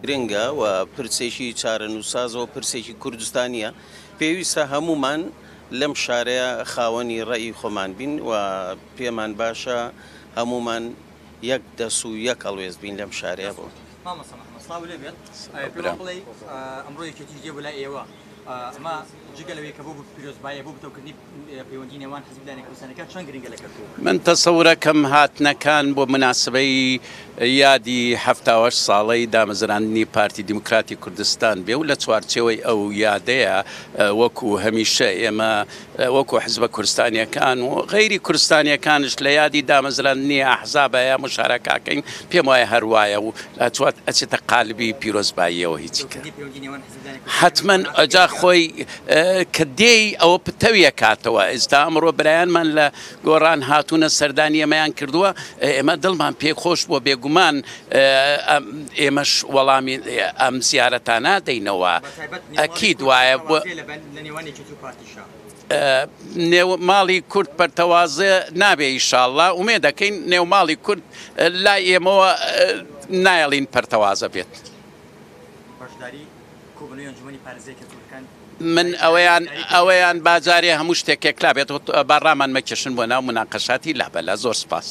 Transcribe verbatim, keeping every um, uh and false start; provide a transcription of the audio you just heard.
گرنگە و پرسێکی چارەنووسسازەوە پرسێکی کوردستانیە، پێویستە هەمومان لەم شارەیە خاوەنی ڕێی خۆمان بین و پێمان باشە هەمومان یەک دەس و یەک هەڵوێست بین لەم شارەیە. بۆ مامۆستا محەممەد سڵاو لێ بێت، پێمان بڵێ ئەمڕۆ یەکێتیش دێ بۆ لای ئێوە، ئەمە جگە لەوەی کە بۆ پیرۆزبایە بۆ بتەوکردنی پەیوەندی نێوان حزب لایەنە کوردستانەکان چەند گرنگە لە کەرکووک؟ من تەسەورەکەم هاتنەکان بۆ مناسبەی یادی حەفتا و هەشت ساڵەی دامەزراندنی پارتی دیموکراتی کوردستان بێ و لە چوارچێوەی ئەو یادەیە وەکو هەمیشە ئێمە وەکو حزبە کوردستانیەکان و غەیری کوردستانیەکانش لە یادی دامەزراندنی ئەحزابە یا مشارەکەکەین، پێم وایە هەروایە و ئەچێتە قالبی پیرۆزباییەوە هیچی کە حتمما ئەجا خۆی کە دێی ئەوە پتەویە کاتەوە. ئێستا ئەمڕۆ برایانمان لە گۆڕان هاتوونە سەردانی ئێمەیان کردووە، ئێمە دڵمان پێ خۆش بووە، بێگومان ئێمەش وەڵامی ئەم زیارەتانە دەینەوە. ئەکید وایە نێو ماڵی کورد پەرتەوازە نابێ ئینشاڵڵا، ئومێ دەکەین نێو ماڵی کورد لای ئێمەوە نایەڵین پەرتەوازە بێت. من ئەوەیان ئەوەیان باجارێ هەموو شتێکێک لا بێت، با ڕامان مەکێشن بۆ ناو مناقەشاتی لابەلا. زۆر سپاس.